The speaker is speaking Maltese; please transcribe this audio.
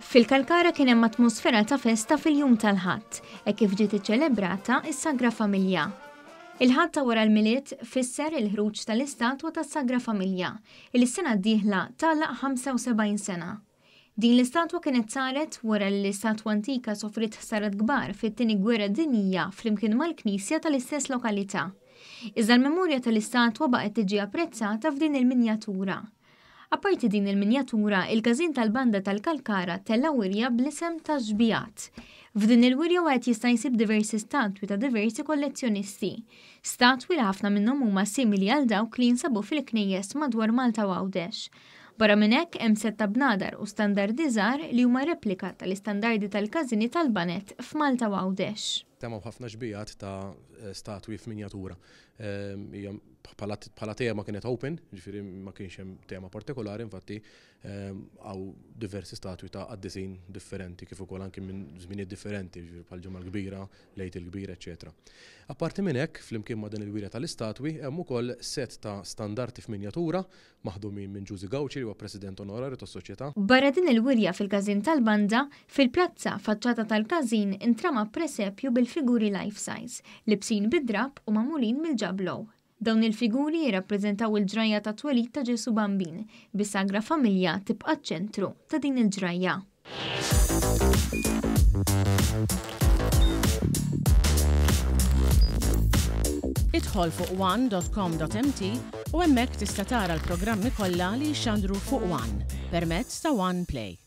Fil-Kalkara kien hemm atmosfera ta' festa fil-jum tal-Ħadd, hekk kif ġiet iċċelebrata s-Sagra Familja. Il-Ħadd ta' wara l-Milied fisser il-ħruġ tal-istatwa tas-Sagra Familja, li s-sena d-dieħla tagħlaq 75 sena. Din l-istatwa kienet saret wara li l-istatwa antika sofriet ħsarat kbar fit-Tieni Gwerra Dinjija flimkien mal-knisja tal-istess lokalità. Iżda l-memorja tal-istatwa baqgħet tiġi apprezzata f'din il-minjatura. Apparti din il-minjatura, il-Każin tal-Banda tal-Kalkara tella' wirja bl-isem ta' Xbijat. F'din il-wirja wieħed jista' jsib diversi statwi ta' diversi kollezzjonisti. Statwi li ħafna minnhom huma simili għal dawk li jinsabu fil-knejjes madwar Malta u Għawdex. Barra minn hekk hemm sett ta' bnadar u standardi żgħar li huma replika tal-istandardi tal-każini tal-baned f'Malta u Għawdex. Temgħu ħafna xbijat ta' statwi f'minjatura. Hija bħala tema kienet open, ġifieri ma kienx hemm tema partikolari, infatti hawn diversi statwi ta' qaddisin differenti kif ukoll anki minn żminijiet differenti, ġifieri bħal Ġimgħa l-Kbira, l-Għid il-Kbir, eċċetera. Apparti minn hekk, flimkien ma' din il-wirja tal-istatwi, hemm ukoll sett ta' standarti f'minjatura maħdumin minn Ġużi Gauci li huwa President Onorarju tas-Soċjetà. Barra din il-wirja fil-każin tal-banda, fil-pjazza faċċata tal-każin intrama presepju bil-figuri life size, libsin bid-drapp u magħmulin mill-ġablow. Dawn il-figuri jirrappreżentaw il-ġrajja tat-twelid ta' Ġesù Bambin, bis-Sagra Familja tibqa' ċ-ċentru ta' din il-ġrajja. Idħol fuq one.com.mt u hemmhekk tista' tara l-programmi kollha li jixxandru fuq One permezz ta' One Play.